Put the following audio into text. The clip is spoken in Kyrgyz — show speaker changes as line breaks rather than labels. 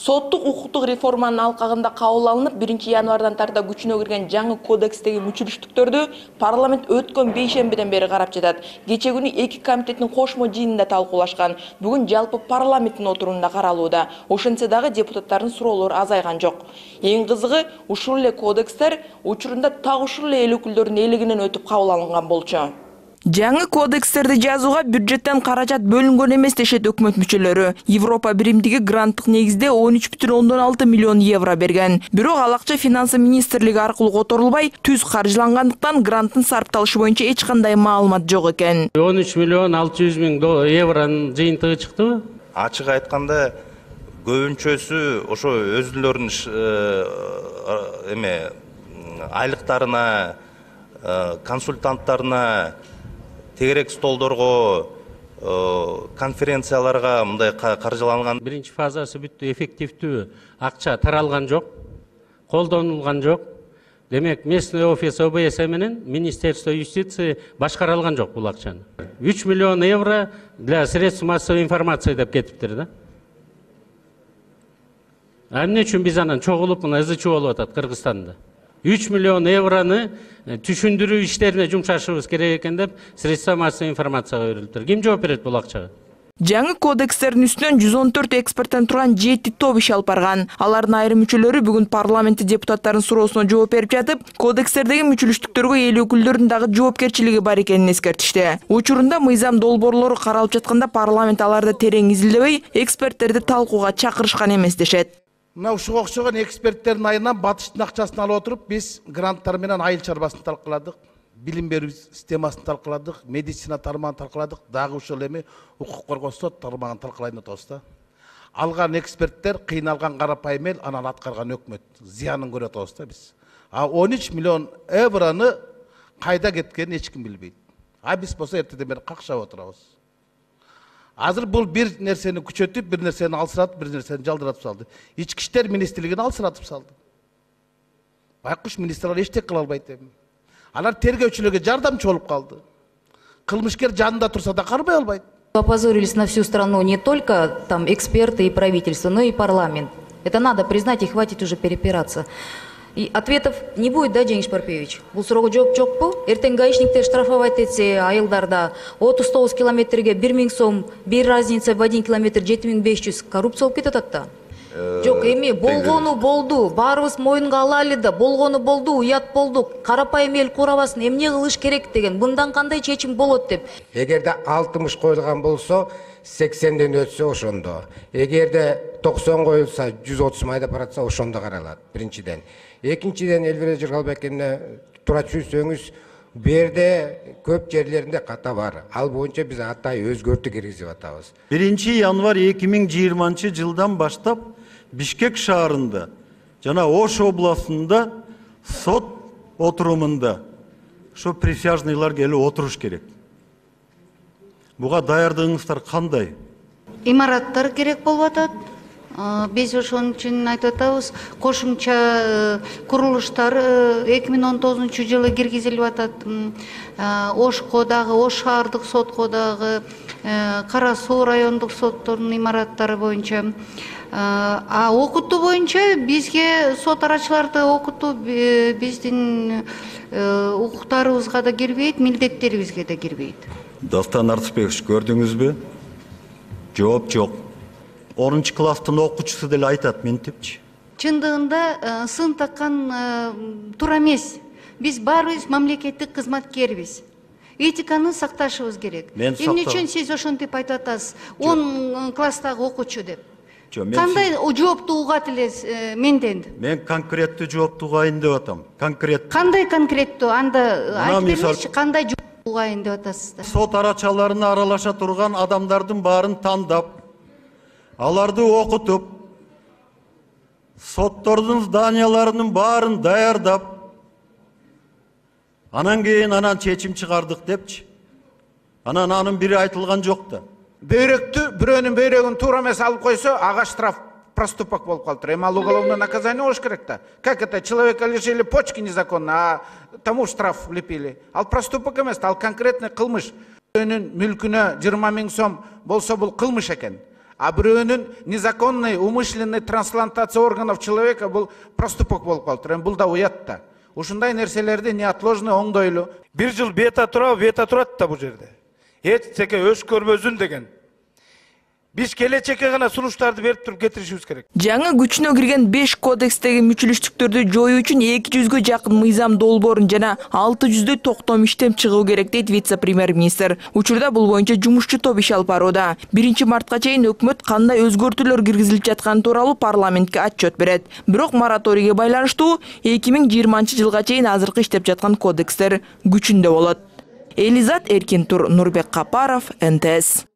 Соттук укуктук реформанын алкагында кабыл алынып, 1-январдан тарта күчүнө кирген жаңы кодекстеги мүчүлүштүктөрдү парламент өткөн бейшембиден бери карап жатат. Кече күнү 2 комитеттин кошмо жыйынында талкуулашкан. Бүгүн жалпы парламенттин отурумунда каралууда. Ошентсе дагы депутаттардын суроолору азайган жок. Эң кызыгы, ушул эле кодекстер учурунда так ушул эле эл өкүлдөрүнүн элегинен өтүп кабыл алынган болчу. Жаңы кодекстерди жазууга бюджеттен каражат бөлүнгөн эмес дешет өкмөт мүчөлөрү. Европа биримдиги гранттык негизде 13,6 миллион евро берген. Бирок ал акча финансы министрлиги аркылуу которулбай, түз каржылангандыктан гранттын сарпталышы боюнча эч кандай маалымат жок экен.
13 миллион 600 миң евронун жыйынтыгы чыктыбы?
Ачык айтканда, көбүнчөсү ошо өзүлөрүнүн айлыктарына, консультанттарына, тегерек столдорго, конференцияларга мындай каржыланган.
Биринчи фазасы бүттү, эффективдүү акча таралган жок, колдонулган жок. Демек, местный офис ОБС менен Министерство юстиции башкарылган жок бул акчаны. 3 миллион евро для средств массовой информации деп кетиптир да. Эмне үчүн биз анан чогулуп мына ызычуу болуп атат Кыргызстанда? 3 миллион евроны түшүндүрүү иштерине жумшашыбыз керек экен деп средства массовой информацияга берилиптир. Ким жооп берет бул акчага?
Жаңы кодекстердин үстүнөн 114 эксперттен турган 7 топ иш алып барган. Алардын айрым мүчөлөрү бүгүн парламентти депутаттардын суроосуна жооп берип жатып, кодекстердеги мүчүлүштүктөргө эл өкүлдөрүнүн дагы жоопкерчилиги бар экенин эскертишти. Учурунда мыйзам долбоорлору каралып жатканда парламент аларды терең изилдебей, эксперттерди талкууга чакырышкан эмес дешет.
Мына ушуга окшогон эксперттердин айынан батыштын акчасын алып отуруп, биз гранттар менен айыл чарбасын талкууладык, билим берүү системасын талкууладык, медицина тармагын талкууладык, дагы ушул эми укук коргоо сот тармагын талкуулайын атабыз да. Алган эксперттер кыйналган карапайым эл, анан аткарган өкмөт зыянын көрүп атабыз да биз. А 13 миллион евроны кайда кеткенин эч ким билбейт. А биз болсо эртеден бери какшап отурабыз. Азыр бул бир нерсени күчөтүп, бир нерсени алсыратып, бир нерсени жалдыратып салды. Ички иштер министрлигин алсыратып салды. Байкуш министрлер эчтек кыла албайт эми. Алар тергөөчүлөргө жардамчы болуп калды. Кылмышкер жанында турса да карбай албайт.
Опозорились на всю страну не только там эксперты и правительство, но и парламент. Это надо признать и хватит уже перепираться. И ответов не будет, да, Жеңиш Парпиевич? Бул суроого жооп жокпу? Эртең гаишниктер штрафовать этсе, айылдарда 39 километрге 1000 сом, бир разница в 1 километр 7500 коррупция болуп кетип атат да. Жок, эми болгону болду, баарыбыз моюнга алалы да, болгону болду, уят болду, карапайым эл курабасын, эмне кылыш керек деген, мындан кандай чечим болот деп.
Эгерде 60 коюлган болсо, 80ден өтсө ошондо. Эгерде 90 коюлса, 130 майда баратса ошондо каралат, биринчиден. Экинчиден, Элвира Жыргалбековна туура түшүнсөңүз, берде көп жерлеринде ката бар. Ал боюнча биз атай өзгөртүү киргизип атабыз.
1-январь 2020-жылдан баштап Бишкек шаарында жана Ош областында сот отурумунда ошо присяжныйлар келип отуруш керек. Буга даярдыгыңыздар кандай?
Имараттар керек болуп атат. Биз ошон үчүн айтып атабыз, кошумча курулуштар 2019-жылы киргизилип атат. Ошко дагы, Ош шаардык сотко дагы, Кара Суу райондук соттордун имараттары боюнча. А окутуу боюнча бизге сот арачыларды окутуу биздин укуктарыбызга да кирбейт, милдеттерибизге да кирбейт.
Дастан Артышбекович, көрдүңүзбү? Жооп жок. 10-класстын окуучусу деле айтат ментипчи.
Чындыгында сын таккан туура эмес. Биз баарыбыз мамлекеттик кызматкербиз. Этиканы сакташыбыз керек. Эмне үчүн сиз ошентип айтып атасыз? 10 класстагы окуучу деп. Кандай жоопту угат элес менден?
Мен конкреттүү жоопту угайын деп атам. Конкреттүү.
Кандай конкреттүү? Анда айтып берсеңизчи, кандай жоопту угайын деп атасыздар?
Сот арачаларына аралаша турган адамдардын баарын тандап, аларды окутуп, соттордун зданияларынын баарын даярдап, анан кийин чечим чыгардык депчи. Анын бири айтылган жок да.
Бөйрөктү, бирөөнүн бөйрөгүн туура эмес алып койсо, ага штраф проступок болуп калыптыр. Эми ал уголовное наказание болуш керек да. Как это? Человека лишили почки незаконно, а тому штраф влепили. Ал проступок эмес, ал конкретный кылмыш. Бирөөнүн мүлкүнө 20 000 сом болсо бул кылмыш экен.
А бирөөнүн незаконный, умышленный трансплантация органов человека бул проступок болуп калыптыр. Бул да уят да. Ушундай нерселерди неотложно оңдойлу.
Бир жыл бета турат да бул жерде. Эчтеке өшкөрбөзүн деген. Биз келечекке гана сунуштарды берип туруп кетиришибиз керек.
Жаңы күчүнө кирген 5 кодекстеги мүчүлүштүктөрдү жоюу үчүн 200гө жакын мыйзам долбоорун жана 600 токтом иштеп чыгуу керек дейт вице-премьер-министр. Учурда бул боюнча жумушчу топ иш алып барууда. 1 мартка чейин өкмөт кандай өзгөртүүлөр киргизилип жатканы тууралуу парламентке отчет берет. Бирок мораторийге байланыштуу 2020-жылга чейин азыркы иштеп жаткан кодекстер күчүндө болот. Элизат Эркинтур, Нурбек Капаров, НТС.